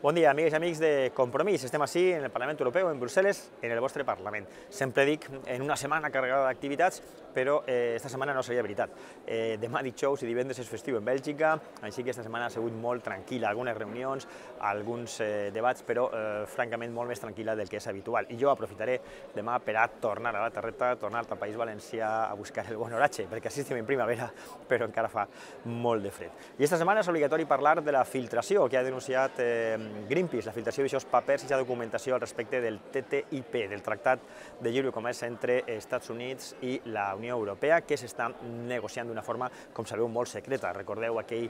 Bon dia, amigues i amics de Compromís. Estem ací en el Parlament Europeu, en Brussel·les, en el vostre Parlament. Sempre dic, en una setmana carregada d'activitats, però esta setmana no seria veritat. Demà dijous i divendres és festiu en Bèlgica, així que esta setmana ha sigut molt tranquil·la. Algunes reunions, alguns debats, però francament molt més tranquil·la del que és habitual. I jo aprofitaré demà per a tornar a la terreta, tornar al País Valencià a buscar el bon oratge, perquè així estem en primavera, però encara fa molt de fred. I esta setmana és obligatori parlar de la filtració que ha denunciat Greenpeace, la filtració d'aixòs papers i la documentació al respecte del TTIP, del Tractat de Lliure Comerç entre Estats Units i la Unió Europea, que s'està negociant d'una forma, com sabeu, molt secreta. Recordeu aquell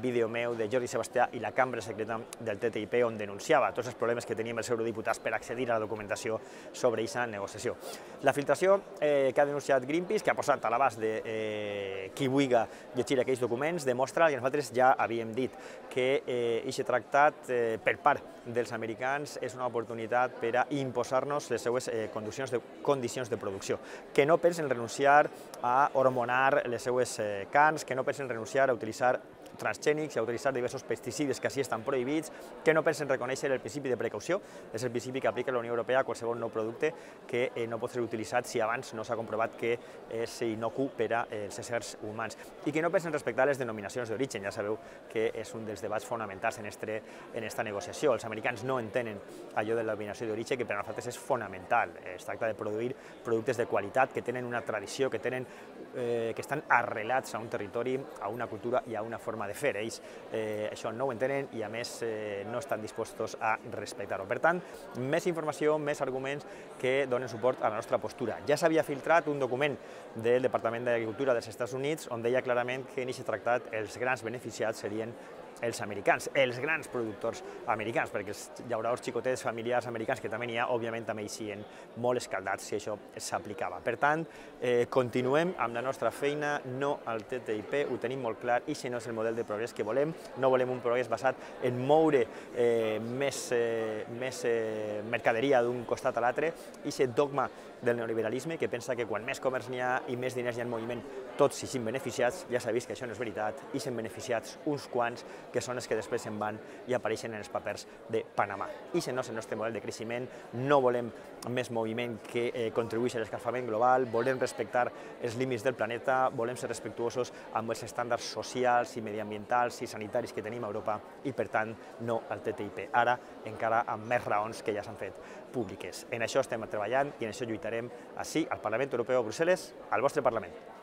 vídeo meu de Jordi Sebastià i la cambra secreta del TTIP on denunciava tots els problemes que tenien els eurodiputats per accedir a la documentació sobre aquesta negociació. La filtració que ha denunciat Greenpeace, que ha posat a l'abast de qui vulgui llegir aquells documents, demostra que nosaltres ja havíem dit que aquest tractat per part dels americans és una oportunitat per a imposar-nos les seues condicions de producció, que no pensen renunciar a hormonar les seues carns, que no pensen renunciar a utilitzar transgènics i a utilitzar diversos pesticides que així estan prohibits, que no pensen reconèixer el principi de precaució, és el principi que aplica la Unió Europea a qualsevol nou producte que no pot ser utilitzat si abans no s'ha comprovat que és inocu per als éssers humans, i que no pensen respectar les denominacions d'origen. Ja sabeu que és un dels debats fonamentals en aquesta negociació. Els americans no entenen allò de la denominació d'origen, que per a nosaltres és fonamental. Es tracta de produir productes de qualitat que tenen una tradició, que estan arrelats a un territori, a una cultura i a una forma de fer. Ells això no ho entenen i, a més, no estan dispostos a respectar-ho. Per tant, més informació, més arguments que donen suport a la nostra postura. Ja s'havia filtrat un document del Departament d'Agricultura dels Estats Units on deia clarament que en aquest tractat els grans beneficiats serien els americans, els grans productors americans, perquè els llauradors xicotets familiars americans, que també n'hi ha, òbviament també hi siguin molt escaldats si això s'aplicava. Per tant, continuem amb la nostra feina, no al TTIP, ho tenim molt clar, i si no és el model de progrés que volem. No volem un progrés basat en moure més mercaderia d'un costat a l'altre, i aquest dogma del neoliberalisme que pensa que quan més comerç n'hi ha i més diners hi ha en moviment, tots s'hi beneficiats. Ja s'ha vist que això no és veritat, i s'han beneficiats uns quants, que són els que després se'n van i apareixen en els papers de Panamà. I si no és el nostre model de creixement, no volem més moviment que contribueix a l'escalfament global, volem respectar els límits del planeta, volem ser respectuosos amb els estàndards socials i mediambientals i sanitaris que tenim a Europa, i per tant no al TTIP. Ara encara amb més raons que ja s'han fet públiques. En això estem treballant i en això lluitarem ací al Parlament Europeu a Brussel·les, al vostre Parlament.